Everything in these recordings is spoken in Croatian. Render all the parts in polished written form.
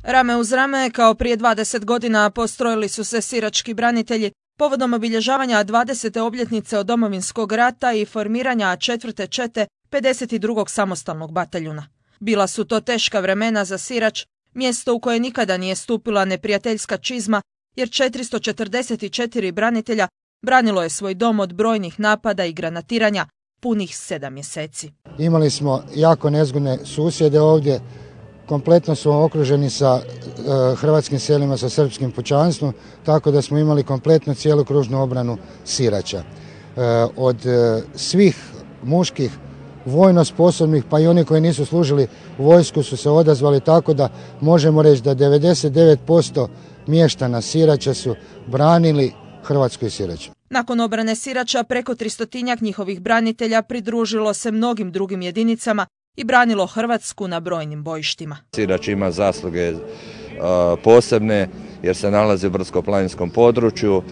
Rame uz rame, kao prije 20 godina, postrojili su se sirački branitelji povodom obilježavanja 20. obljetnice od Domovinskog rata i formiranja 4. čete 52. samostalnog bataljuna. Bila su to teška vremena za Sirač, mjesto u koje nikada nije stupila neprijateljska čizma, jer 444 branitelja branilo je svoj dom od brojnih napada i granatiranja punih 7 mjeseci. Imali smo jako nezgodne susjede ovdje, kompletno su okruženi sa hrvatskim selima, sa srpskim pučanstvom, tako da smo imali kompletno cijelu kružnu obranu Sirača. Od svih muških vojno sposobnih, pa i oni koji nisu služili vojsku, su se odazvali, tako da možemo reći da 99% mještana Sirača su branili Hrvatsku i Sirač. Nakon obrane Sirača, preko 300-tinjak njihovih branitelja pridružilo se mnogim drugim jedinicama i branilo Hrvatsku na brojnim bojištima. Sirač ima zasluge posebne jer se nalazi u brdsko-planinskom području.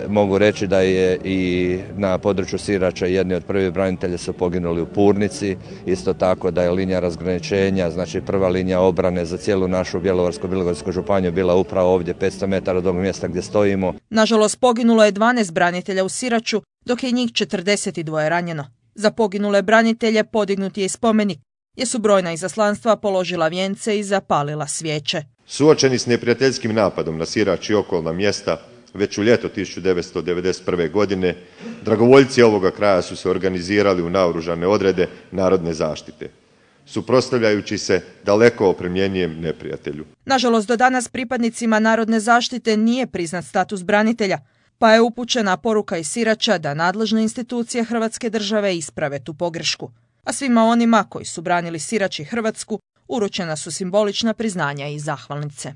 Mogu reći da je i na području Sirača jedni od prvih branitelja su poginuli u Purnici. Isto tako da je linija razgraničenja, znači prva linija obrane za cijelu našu Bjelovarsko-bilogorsku županiju bila upravo ovdje 500 metara od ovog mjesta gdje stojimo. Nažalost, poginulo je 12 branitelja u Siraču, dok je njih 42 ranjeno. Za poginule branitelje podignut je i spomenik, jer su brojna izaslanstva položila vijence i zapalila svijeće. Suočeni s neprijateljskim napadom na Sirač i okolna mjesta, već u ljeto 1991. godine, dragovoljci ovoga kraja su se organizirali u naoružane odrede narodne zaštite, suprotstavljajući se daleko opremljenijem neprijatelju. Nažalost, do danas pripadnicima narodne zaštite nije priznat status branitelja, pa je upućena poruka iz Sirača da nadležne institucije Hrvatske države isprave tu pogrešku. A svima onima koji su branili Sirač i Hrvatsku uručena su simbolična priznanja i zahvalnice.